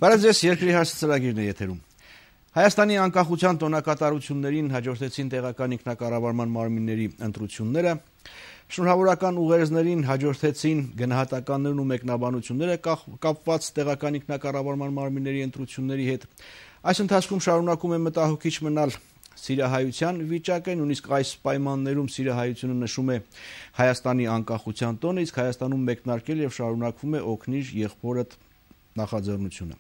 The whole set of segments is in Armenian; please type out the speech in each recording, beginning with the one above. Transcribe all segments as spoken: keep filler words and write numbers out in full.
Բարև ձեզ, երկրի հարցը ծրագիրն է եթերում։ Հայաստանի անկախության տոնակատարություններին հաջորդեցին տեղական ինքնակառավարման մարմինների ընտրությունները, շնորհավորական ուղերձներին հաջորդեցին գնահատականներն ու մեկնաբանությունները կապված տեղական ինքնակառավարման մարմինների ընտրությունների հետ։ Այս ընթացքում շարունակում է մտահոգիչ մնալ սիրահայության վիճակը, նույնիսկ այս պայմաններում սիրահայությունը նշում է Հայաստանի անկախության տոնը, իսկ Հայաստանում մեկնարկել եւ շարունակվում է օգնիր եղբորդ նախաձեռնությունը։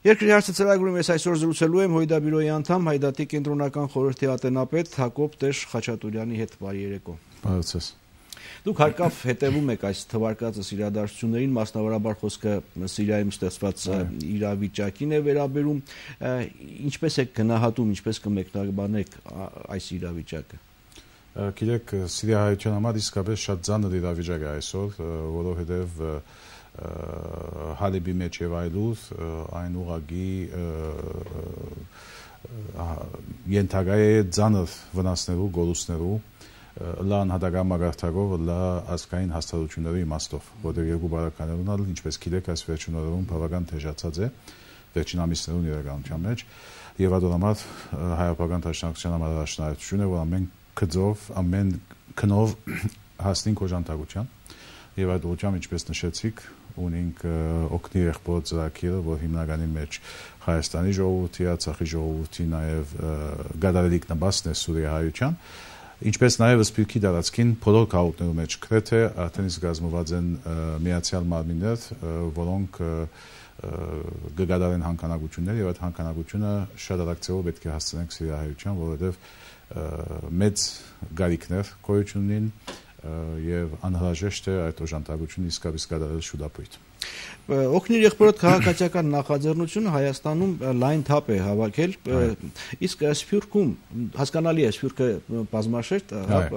Երկրի հարցը ծրագրում ես այսօր զրուցելու եմ Հույդաբյուրոյի անդամ Հայդատի կենտրոնական խորհրդի ատենապետ Հակոբ Տեր Խաչատուրյանի հետ։ Բարի երեկո։ Բարև ձեզ։ Դուք հարկավ հետևում եք այս թվարկածս իրադարձություններին, մասնավորաբար խոսքը Սիրիայում ստեղծված իրավիճակին է վերաբերում, ինչպես եք գնահատում, ինչպես կմեկնաբանեք այս իրավիճակը։ Գիտեք, սիրիահայության համար իսկապես շատ ծանր իրավիճակ է այսօր, որովհետև Հալիբի մեջ եւ այլուր այն ուղղակի ենթակա է ծանր վնասներու, գոլուստներու լա անհատական մագարտակով, լա ազգային հաստատությունների իմաստով, որտեղ երկու բարականներ ունալ, ինչպես գիտեք, այս վերջին օրերում բավական թեժացած է վերջին ամիսներուն իրականության մեջ, եւ այդ համար հայապական դաշնակցության համար առաջնահերթություն է, որ ամեն գծով, ամեն քնով հասնենք օժանդակության, եւ այդ ուղղությամբ, ինչպես նշեցիք, ունենք օգնի եղբոր ծրագիրը, որ հիմնականի մեջ Հայաստանի ժողովրդի, Արցախի ժողովրդի, նաեւ գադարելիք նպաստն է սուրիահայության, ինչպես նաև Սփյուռքի տարածքին բոլոր քաղաքներու մեջ գրեթե արդեն իսկ կազմված են միացյալ մարմիններ, որոնք կգադարեն հանքանակություններ եւ այդ հանքանակությունը շատ արագ պետք է հասցնենք սիրիահայության, որովհետեւ մեծ գարիքներ գոյություն ունին եւ անհրաժեշտ է այդ օժանդակությունը իսկապես կատարել շուտապույտ։ Օգնիր եղբորդ քաղաքացիական նախաձեռնությունը Հայաստանում լայն թափ է հավաքել, իսկ Սփյուռքում հասկանալի է, Սփյուռքը բազմաշերտ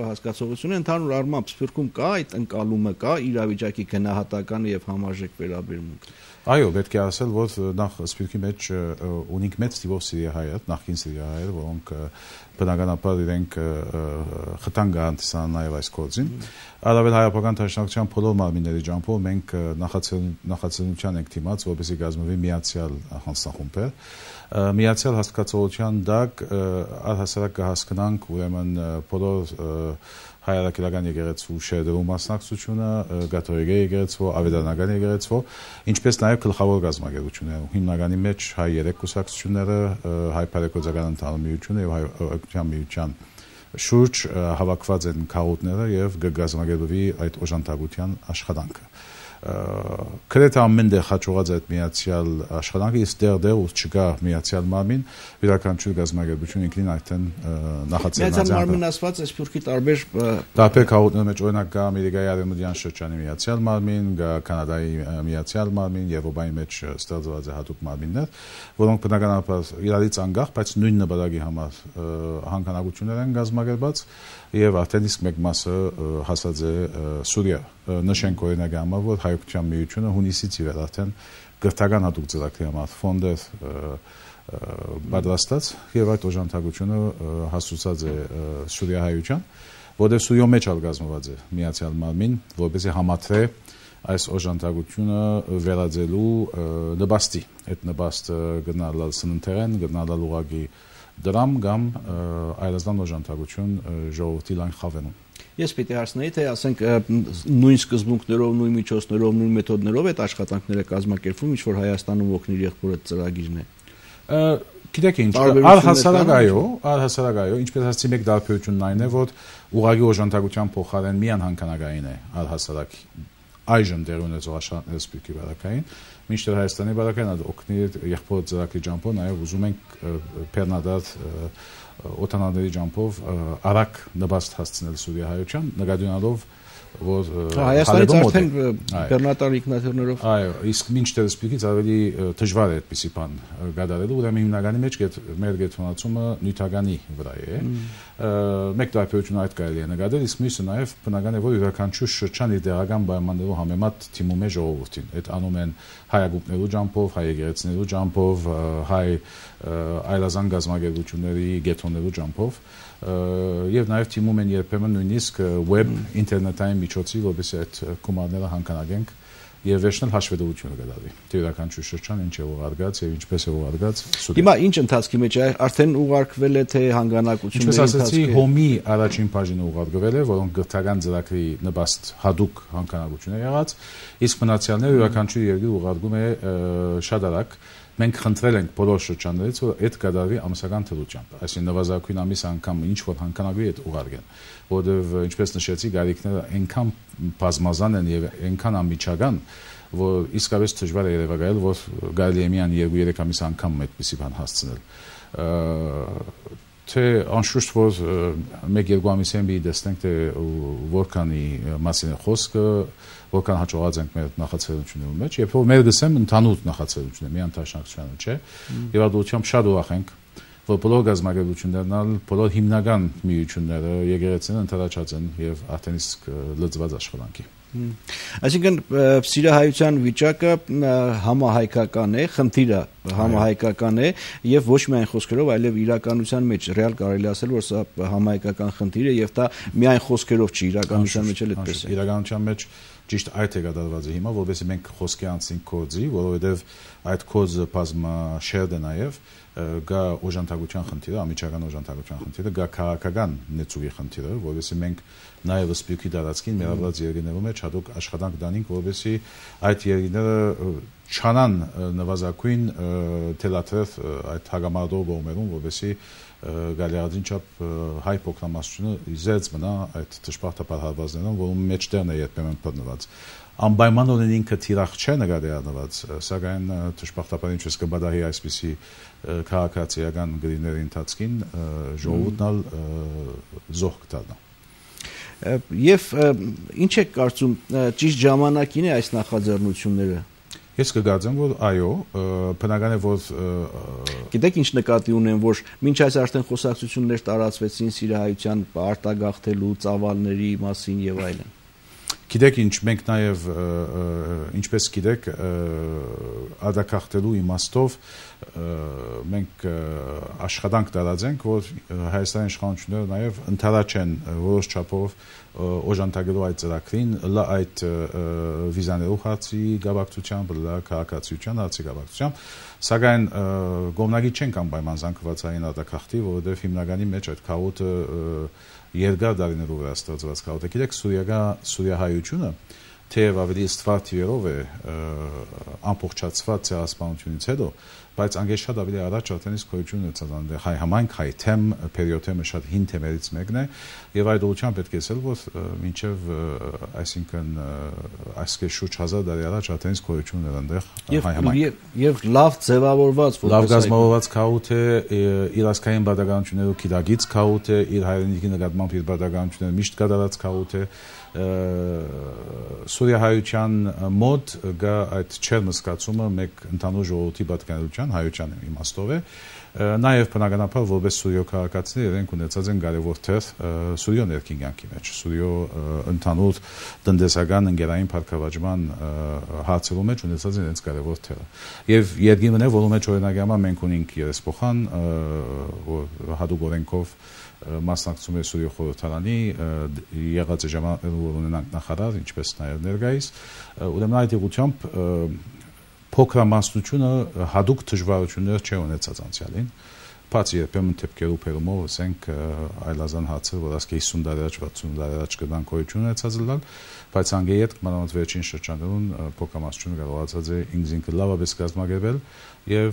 հասկացողություն է, ընդհանուր առմամբ Սփյուռքում կա այդ ընկալումը, կա իրավիճակի գնահատական եւ համարժեք վերաբերմունք։ Այո, պետք է ասել, որ նախ Սփյուռքի մեջ ունենք մեծ թիվով սիրիահայեր, նախկին սիրիահայեր, որոնք բնականաբար իրենք խթան գանտիսան նաև այս գործին։ Արավել հայապական դաշնակցության բոլոր մարմինների ջանքով մենք նախաձեռնության ենք դիմաց, որպեսզի կազմվի միացյալ հանձնախումբեր։ Միացյալ հասկացողության դակ առհասարակ կհասկանանք ուրեմն բոլոր հայրաքելական եկեղեցու շերտերու մասնակցությունը, կաթողիկ եկեղեցու, ավետարանական եկեղեցու, ինչպես նաև գլխավոր կազմակերպությունները, հիմնականի մեջ հայ երեք կուսակցությունները, հայ բարեգործական ընդհանուր միությունը եւ հայ օգնության միության շուրջ հավաքված են քաղաքները եւ կգազմակերպվի այդ օժանդակության աշխատանքը։ Գրեթե ամեն տեղ հաջողած այդ միացյալ աշխատանքը, իսկ դեռ ու չկա միացյալ մարմին, յուրաքանչյուր գազམ་ագերբություն ինքնին այդտեն նախաձեռնած է։ Միացյալ մարմին ասված է Սփյուռքի տարբեր տարբեր քաղաքների մեջ, օրինակ կա Ամերիկայի արևմտյան շրջանի միացյալ մարմին, կա Կանադայի միացյալ մարմին, Եվրոպայի մեջ ստեղծված է հատուկ մարմիններ, որոնք բնականաբար իրարից անկախ, բայց նույն նպատակի համար հանքանակություններ են գազམ་ագերբած եւ արդեն իսկ մեկ մասը հասած է Սուրիա։ Նշենք օրինակ համար, որ հայօգնության միությունը հունիսից ի վեր արդեն գրթական հատուկ ծրագրի համար ֆոնդեր պատրաստած եւ այդ օժանդակությունը հասցուցած է սուրիահայության, որտեղ Սուրիո մեջ ալ կազմված է միացյալ մարմին, որպեսզի համատրե այս օժանդակությունը վերածելու նպաստի, այդ նպաստը գնալալ սննդերեն, գնալալ ուղղակի դրամ կամ այլազգան օժանդակություն ժողովրդի լայն խավենում։ Ես պիտի հարցնեի, թե ասենք նույն սկզբունքներով, նույն միջոցներով, նույն մեթոդներով այդ աշխատանքները կազմակերպվում, ինչ որ Հայաստանում օգնիր եղբորդ ծրագիրն է։ Գիտեք ինչ, առհասարակ այո, առհասարակ այո, ինչպես ասացի, մեկ դարբերությունն այն է, որ ուղղակի օժանդակության փոխարեն միան հանքանակային է առհասարակ այժմ դեր ունեցող աշխատանքները Սփյուռքի բարակային, մինչդեռ Հայաստանի բարակային օգնիր եղբորդ ծրագրի ջանքով նաև ուզում ենք բեռնադար օտանաների ջանքով արագ նպաստ հասցնել սուրիահայության, նկատի որ Հայաստանից արդեն բեռնատար ինքնաթիռներով այո, իսկ մինչդեռ Սփյուռքից ավելի դժվար է այդպիսի բան գադարելու, ուրեմն հիմնականի մեջ մեր գետնացումը նյութականի վրա է։ Մեկ տարբերություն այդ կարելի է նկատել, իսկ մյուսը նաև բնական է, որ յուրաքանչյուր շրջան իր տեղական պայմաններով համեմատ թիմում է ժողովրդին։ Այդ անում են հայագուպներու ջանքով, հայ եկեղեցիներու ջանքով, հայ այլազգան գազམ་ագերբությունների գեթոներու ջանքով եւ նաեւ թիմում են երբեմն նույնիսկ web ինտերնետային միջոցի, որովհետեւ այդ կոմանդները հանկանագենք եւ վերջնել հաշվետվությունը կդարվի։ Թե յուրաքանչյուր շրջան ինչ է ուղարկած եւ ինչպես է ուղարկած։ Հիմա ինչ ընթացքի մեջ է, արդեն ուղարկվել է թե հանգանակությունների ընթացքը։ Ինչպես ասացի, հոմի առաջին բաժինը ուղարկվել է, որոնք գրթական ծրագրի նպաստ հadoop հանգանակություն է եղած, իսկ մնացյալները յուրաքանչյուր երկիր ուղարկում է շատ արագ։ Մենք խնդրել ենք բոլոր շրջաններից, որ այդ կդարվի ամսական թվությամբ, այսինքն նվազագույն ամիս անգամ ինչ որ հանգանակվի այդ ուղարկեն, որովհետև ինչպես նշեցի, գարիքները այնքան բազմազան են եւ այնքան անմիջական, որ իսկապես դժվար է երևակայել, որ կարելի է միայն երկու-երեք ամիս անգամ այդպիսի բան հասցնել։ Թե անշուշտ որ մեկ-երկու ամիսին մի տեսնենք թե որքանի մասին է խոսքը, որքան հաջողած ենք մեր նախաձեռնությունների մեջ, երբ որ մեր գսեմ ընդհանուր նախաձեռնություն է, միայն տաշնակցությանը չէ, եւ ադուությամբ շատ ուրախ ենք, որ բոլոր գազམ་ագերություններն, բոլոր հիմնական միությունները եկեղեցին ընդառաջած են եւ արդեն իսկ լծված աշխատանքի։ Այսինքն սիրահայության վիճակը համահայկական է, խնդիրը համահայկական է եւ ոչ միայն խոսքերով, այլև իրականության մեջ ռեալ կարելի ասել, որ սա համահայկական խնդիր է եւ դա միայն խոսքերով չի, իրականության մեջ էլ այդպես է։ Իրականության մեջ ճիշտ այդ է կատարված է հիմա, որովհետեւ մենք խոսքի անցնենք կոդի, որովհետեւ այդ կոդը բազմաշերտ է նաեւ գա օժանդակության խնդիրը, ամիջական օժանդակության խնդիրը, գա քաղաքական նեցուղի խնդիրը, որովհետեւ մենք նաեւ սպյուկի տարածքին մերաբրած երկրներում մեջ հատուկ աշխատանք դանենք, որովհետեւ այդ երկրները չանան նվազագույն թելաթրև այդ հագամարտող կողմերում, որովհետեւ գալիարդին չափ հայ փոքրամասնությունը իզերծ մնա այդ դժբախտաբար հարվածներում, որում մեջտեղն է երբեմն բռնված։ Անպայման ունեն ինքը թիրախ չէ նկատի առնված, սակայն դժբախտաբար ինչպես կբադահի այսպիսի քաղաքացիական գրիների ընթացքին ժողովուրդն զոհ կդառնա։ Եվ ինչ եք կարծում, ճիշտ ժամանակին է այս նախաձեռնությունները։ Ես կգործեմ, որ այո, բնական է, որ գիտեք ինչ նկատի ունեմ, որ մինչ այս արդեն խոսակցություններ տարածվեցին սիրահայության արտագաղթելու ծավալների մասին եւ այլն։ Գիտեք ինչ, մենք նաև ինչպես գիտեք, արտագաղթելու իմաստով մենք աշխատանք տարածենք, որ Հայաստանի իշխանությունները նաև ընդառաջ են որոշ չափով օժանդակելու այդ ծրագրին, լա այդ վիզաներու հարցի գաբակցությամբ, լա քաղաքացիության հարցի գաբակցությամբ, սակայն գոմնագի չենք անպայման զանգվածային արտագաղթի, որովհետև հիմնականի մեջ այդ քաոտը երկար դարիներով վրա ստեղծված քաոտ է։ Գիտեք, սուրիահայությունը թեև ավելի ստվար թիվերով է ամբողջացված ցեղասպանությունից հետո, բայց անգեշ շատ ավելի առաջ արդեն իսկ գոյություն ունեցած հայ համայնք, հայ թեմ, պերիոդը շատ հին թեմերից մեկն է, եւ այդ ուղղությամբ պետք է ասել, որ մինչեւ այսինքն այսքան շուրջ հազար տարի առաջ արդեն իսկ գոյություն ուներ այնտեղ հայ համայնք։ Եվ լավ ձևավորված, լավ գազմավորված քաոտ է, իր ազգային բادرականություններով քիդագից քաոտ է, իր հայրենիքի նկատմամբ իր բادرականությունները միշտ կատարած քաոտ է։ Սուրիահայության մոտ գա այդ չերմսկացումը մեկ ընդհանուր ժողովրդի պատկանելիության հայության իմաստով է, նաև բնականաբար որպես սուրիո քաղաքացիներ իրենք ունեցած են կարևոր թեր սուրիո ներքին կյանքի մեջ, սուրիո ընդհանուր տնտեսական ընկերային փառքավաճման հարցերում մեջ ունեցած են իրենց կարևոր թերը։ Եվ երկիրն է, որում մեջ օրինակ համար մենք ունենք երեսփոխան, որ հատուկ օրենքով մասնակցում է Սուրիո խորհրդարանի, եղած է ժամանակներում որ ունենանք նախարար, ինչպես նաև ներկայիս, ուրեմն այդ ուղղությամբ փոքրամասնությունը հատուկ դժվարություններ չի ունեցած անցյալին, բացի երբեմն թեփքերու փերումով, ասենք այլազան հացը, որ ասկե հիսուն տարի առաջ, վաթսուն տարի առաջ կդան գոյություն ունեցած լալ, բայց անգեյետ մանավանդ վերջին շրջանում փոքրամասնությունը կարողացած է ինքնին լավապես կազմակերպել եւ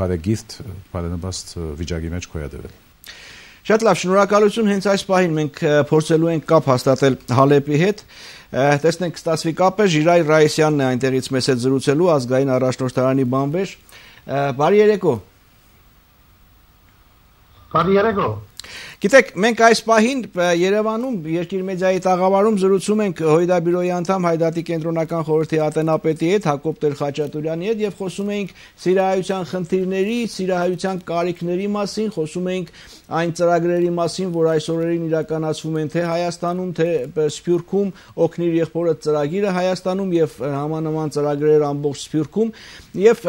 բարեգիրտ, բարենպաստ վիճակի մեջ գոյատևել։ Շատ լավ, շնորհակալություն, հենց այս պահին մենք փորձելու ենք կապ հաստատել Հալեպի հետ, տեսնենք կստացվի կապը, Ժիրայր Ռայիսյանն է այնտեղից մեզ հետ զրուցելու, ազգային առաջնորդարանի բանվեր, բարի երեկո։ Բարի երեկո։ Գիտեք, մենք այս պահին Երևանում Երկիր մեդիայի տաղավարում զրուցում ենք Հույդաբյուրոյի անդամ Հայդատի կենտրոնական խորհրդի ատենապետի հետ, Հակոբ Տեր-Խաչատուրյանի հետ եւ խոսում էինք սիրահայության խնդիրների, սիրահայության կարիքների մասին, խոսում էինք այն ծրագրերի մասին, որ այս օրերին իրականացվում են թե Հայաստանում, թե Սփյուռքում, Օգնիր եղբորդ ծրագիրը Հայաստանում եւ համանման ծրագրեր ամբողջ Սփյուռքում եւ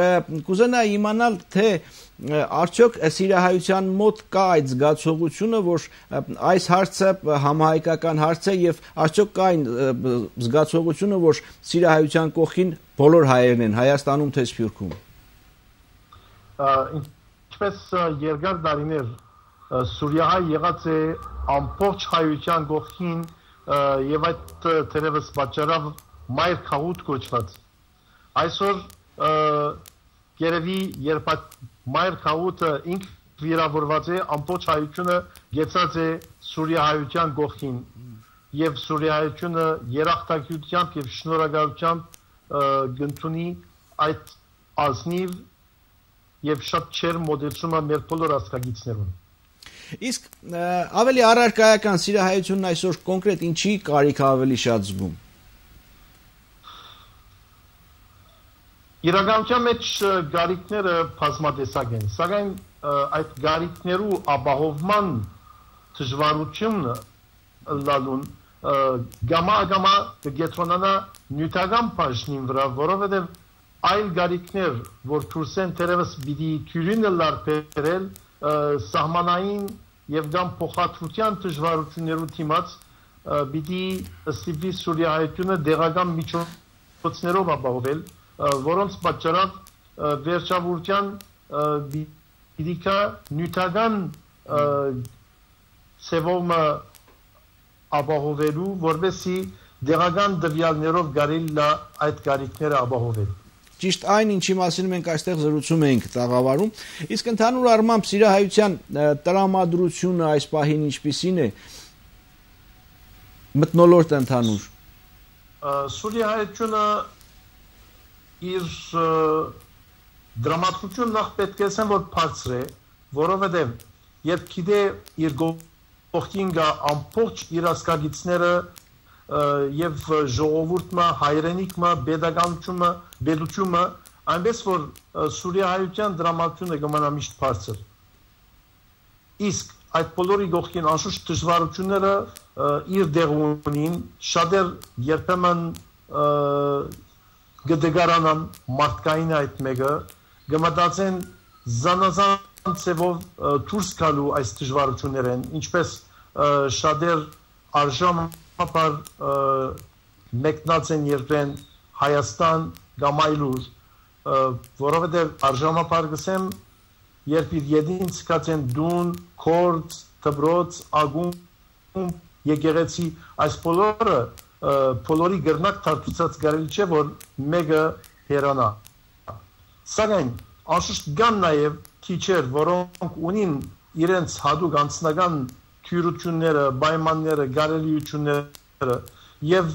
կուզենայի իմանալ թե արդյոք սիրահայության մոտ կա այդ զգացողությունը, որ այս հարցը համահայկական հարց է եւ արդյոք կա այն զգացողությունը, որ սիրահայության կողքին բոլոր հայերն են Հայաստանում թե Սփյուռքում։ Ինչպես երկար տարիներ Սուրիահայ եղած է ամբողջ հայության կողքին եւ այդ թերևս պատճառով մայր քաղուտ կոչված։ Այսօր երևի երբ մայր քաղուտը ինք վիրավորված է, ամբողջ հայությունը գեցած է Սուրիահայության կողքին եւ Սուրիահայությունը երախտագիտությամբ եւ շնորհակալությամբ գտնունի այդ ազնիվ եւ շատ չեր մոդելացումը մեր բոլոր ազգագիցներուն։ Իսկ ավելի առարկայական սիրահայությունն այսօր կոնկրետ ինչի կարիք ավելի շատ զգում։ Իրականության մեջ գարիկները բազմատեսակ են, սակայն այդ գարիկներու ապահովման դժվարությունը լալուն գամա-գամա կգետրոնանա նյութական բաժնին վրա, որովհետև այլ գարիկներ, որ դուրսեն թերևս պիտի թյուրինը լարբերել սահմանային եւ կամ փոխադրության դժվարություններու դիմաց պիտի ստիպի Սուրիահայությունը դեղական միջոցներով ապահովել, որոնց պատճառով վերջավորության Իդիկա նյութական սևոմը ապահովելու, որովհետեւ դեղական դվյալներով կարելի այդ գարիկները ապահովել։ Ճիշտ այն, ինչի մասին մենք այստեղ զրուցում ենք տաղավարում, իսկ ընդհանուր առմամբ սիրահայության տրամադրությունը այս պահին ինչպիսին է, մթնոլորտ ընդհանուր։ Սուրիահայությունը իր դրամատուրգիան նախ պետք է ասեմ, որ բարձր է, որովհետև երբ գիտե իր կողքին գա ամբողջ իր ազգագիցները եւ ժողովուրդը, հայրենիքը, pedagogiությունը, պետությունը, այնպես որ Սուրիահայության դրամատուրգիանը կմնա միշտ բարձր։ Իսկ այդ բոլորի կողքին անշուշտ դժվարությունները իր դեղ ունին, շատեր երբեմն գդեգարանան մարդկային այդ մեկը գմտածեն զանազան ծևով դուրս գալու այս դժվարություններն, ինչպես շատեր արժանապար մեկնած են երբեն Հայաստան կամ այլուր, որովհետև արժանապար գսեմ, երբ իր յետին ցկած են դուն, քորձ, դբրոց, ագում, եկեղեցի, այս բոլորը բոլորի գրնակ թարթուցած կարելի չէ, որ մեկը հերանա։ Սակայն անշուշտ կան նաև քիչեր, որոնք ունին իրենց հատուկ անձնական թյուրությունները, պայմանները, կարելիությունները եւ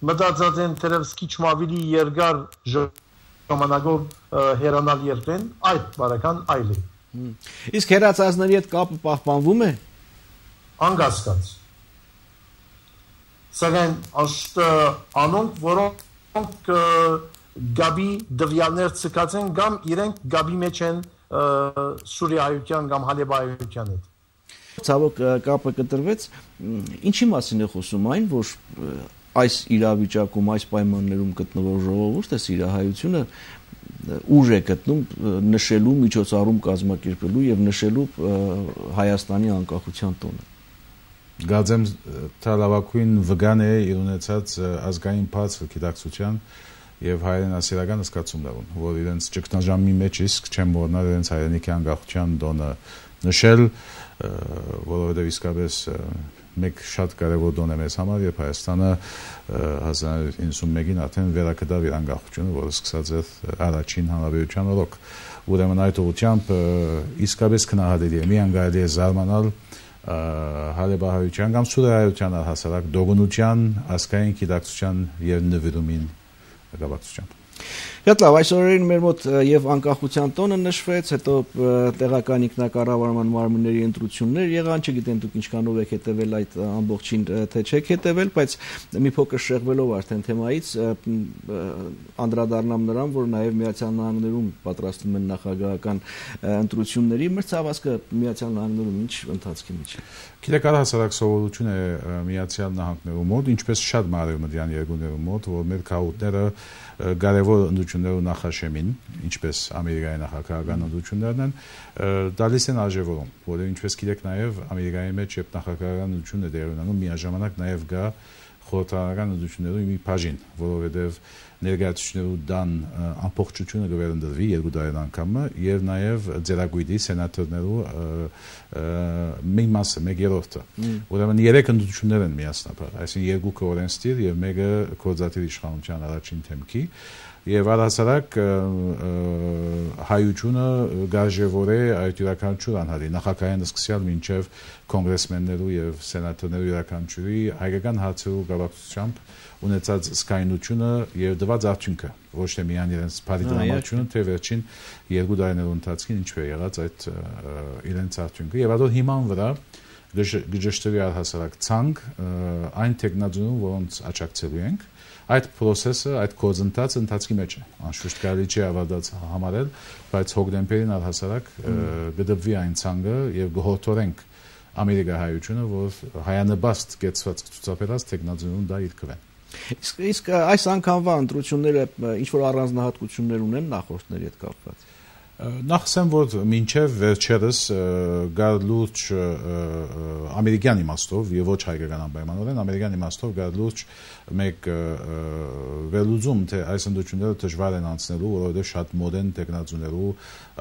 մտածած են թերևս քիչ ավելի երկար ժամանակով հերանալ երբեն, այդ բարական այլ է։ Իսկ հերացածների հետ կապը պահպանվում է։ Անկասկած։ Սակայն անշուշտ անոնք, որոնք գաբի դվյալներ ցկած են կամ իրենք գաբի մեջ են Սուրիահայության կամ Հալեբայության հետ։ Ցավոք կապը կտրվեց, ինչի մասին է խոսում այն, որ այս իրավիճակում, այս պայմաններում գտնվող ժողովուրդը սիրահայությունը ուժ է գտնում նշելու, միջոցառում կազմակերպելու եւ նշելու Հայաստանի անկախության տոնը։ Գազեմ թալավակույն վգան է իր ունեցած ազգային բացր գիտակցության եւ հայրենասիրական զգացումներուն, որ իրենց ճգնաժամի մեջ իսկ չեմ մոռանալ իրենց հայրենիքի անկախության տոնը նշել, որովհետեւ իսկապես մեկ շատ կարևոր տոն է մեզ համար, երբ Հայաստանը հազար իննսուն իննսունմեկին արդեն վերակդավ իր անկախությունը, որը սկսած էր առաջին հանրապետության օրոք։ Ուրեմն այդ ուղղությամբ իսկապես քնահատելի է, միան կարելի է զարմանալ Հալեբահայության կամ Սուրիահայության հասարակ դողունության, ազգային գիտակցության եւ նվիրումին կապակցությամբ։ Շատ լավ, այս օրերին մեր մոտ եւ անկախության տոնը նշվեց, հետո տեղական ինքնակառավարման մարմինների ընտրություններ եղան, չգիտեմ դուք ինչքանով եք հետևել այդ ամբողջին, թե չեք հետևել, բայց մի փոքր շեղվելով արդեն թեմայից անդրադառնամ նրան, որ նաեւ Միացյալ Նահանգներում պատրաստվում են նախագահական ընտրությունների, մրցավազքը Միացյալ Նահանգներում ինչ ընթացքի մեջ է։ Գիտեք, առհասարակ սովորություն է Միացյալ Նահանգներում մոտ, ինչպես շատ մարևմտյան երկրներում մոտ, որ մեր քաղաքները կարևոր ընդդություններու նախաշեմին, ինչպես Ամերիկայի նախագահական ընդդություններն են, դալիս են արժևորում, որը ինչպես գիտեք նաև Ամերիկայի մեջ երբ նախագահական ընդդությունն է դեր ունենում, միաժամանակ նաև գա խորհրդարանական ընդդություններու մի բաժին, որովհետև ներկայացուցիչներու դան ամբողջությունը կվերընտրվի երկու տարին անգամը եւ նաեւ ձերագույդի սենատորներու մի մասը, մեկ երրորդը։ Ուրեմն երեք ընդդություններ են միասնաբար, այսինքն երկուքը օրենսդիր եւ մեկը գործադիր իշխանության առաջին թեմքի եւ առհասարակ հայությունը գարժևոր է այդ յուրաքանչյուր անհատի նախագահային սկսյալ մինչեւ կոնգրեսմեններու եւ սենատորներու յուրաքանչյուրի հայկական հարցերու գավաթությամբ ունեցած սկայնությունը եւ դված արդյունքը ոչ թե միայն իրենց բարիդրամությունը թե վերջին երկու տարիներու ընթացքին ինչ է եղած այդ իրենց արդյունքը եւ այդ հիման վրա գժշտվի առհասարակ ցանկ այն տեխնոլոգիաներուն որոնց աջակցելու ենք այդ process-ը, այդ գործընթացը ընթացքի մեջ է։ Անշուշտ կարելի չէ ավարտած համարել, բայց հոկտեմբերին առհասարակ գդվի այն ցանկը եւ գողորթորենք Ամերիկահայությունը, որ հայանպաստ կեցված ցուցաբերած տեխնոլոգիաներուն դա իր կվեն։ Իսկ իսկ այս անգամվա ընտրությունները ինչ որ առանձնահատկություններ ունեն նախորդների հետ կապված։ Նախ ասեմ, որ մինչև վերջերս գար լուրջ ամերիկյան իմաստով եւ ոչ հայկական անպայմանորեն ամերիկյան իմաստով գար լուրջ մեկ վերլուծում թե այս ընդդությունները դժվար են անցնելու, որովհետեւ շատ մոդեռն տեխնոլոգիաներու,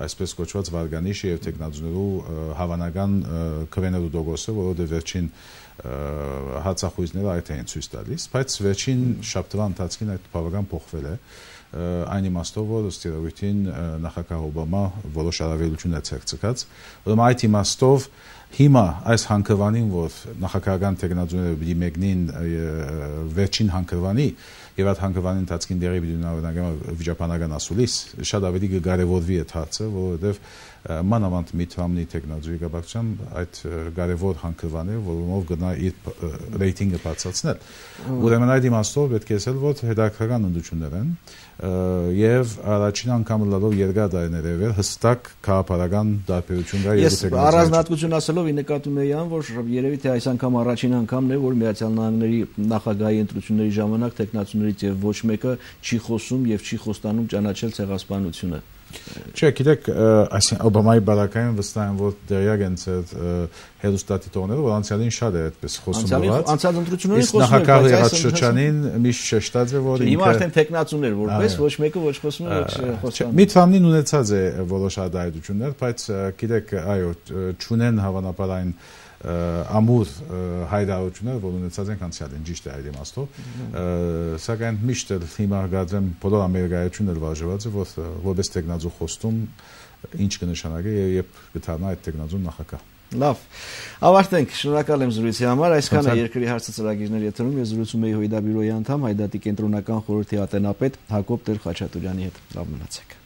այսպես կոչված վարգանիշի եւ տեխնոլոգիաներու հավանական քվեներու դոգոսը, որովհետեւ վերջին հացախույզները այդ են ցույց տալիս, բայց վերջին շաբթվա ընթացքին այդ բավական փոխվել է այն իմաստով, որ ստիրավույթին նախագահ Օբամա որոշ առավելություն է ցերծած, ուրեմն այդ իմաստով հիմա այս հանգրվանին, որ նախագահական տեխնոլոգիաները պիտի մեկնին վերջին հանգրվանի եւ այդ հանգրվանի ընթացքին դերի պիտի ունենա վիճապանական ասուլիս, շատ ավելի կկարևորվի այդ հարցը, որովհետեւ մանավանդ Միթրամնի տեխնոլոգիայի կապակցությամբ այդ կարևոր հանգրվանը, որոնով գնա իր ռեյտինգը բարձրացնել։ Ուրեմն այդ իմաստով պետք է ասել, որ հետաքրքրական ընդդություններ են եւ առաջին անգամ լալով երկար տարիներ է վել հստակ քաղաքական տարբերություն կա երկու տեխնոլոգիայի։ Ես առանձնահատկություն ասելով ի նկատի ունեի ան, որ երևի թե այս անգամ առաջին անգամն է, որ Միացյալ Նահանգների նախագահի ընտրությունների ժամանակ տեխնոլոգիաներից եւ ոչ մեկը չի խոսում եւ չի խոստանում ճանաչել ցեղասպանությունը։ Չէ, գիտեք, այսինքն Օբամայի բանակային վստահ եմ, որ դերյակ են ցած հերոստատիտողները, որ անցյալին շատ է այդպես խոսում եղած։ Անցյալ ընտրություններին խոսում էր, նախագահի եղած շրջանին միշտ շեշտած է, որ հիմա արդեն տեխնացուներ որպես ոչ մեկը ոչ խոսում է, ոչ խոսում։ Միթրամնին ունեցած է որոշ արտահայտություններ, բայց գիտեք, այո, չունեն հավանաբար այն ամուր հայտարարություններ, որ ունեցած են անցյալին, ճիշտ է այդ իմաստով, սակայն միշտ հիմա գազեմ բոլոր ամերիկայությունն էլ վարժված է, որ որպես տեխնոլոգիա խոստում ինչ կնշանակի եւ երբ կդառնա այդ տեխնոլոգիան նախագահ։ Լավ, ավարտենք, շնորհակալ եմ զրույցի համար, այսքան է երկրի հարցը ծրագիրների եթերում, ես զրուցում էի Հույդա բյուրոյի անդամ, Հայդատի կենտրոնական խորհրդի ատենապետ Հակոբ Տեր-Խաչատուրյանի հետ։ Լավ մնացեք։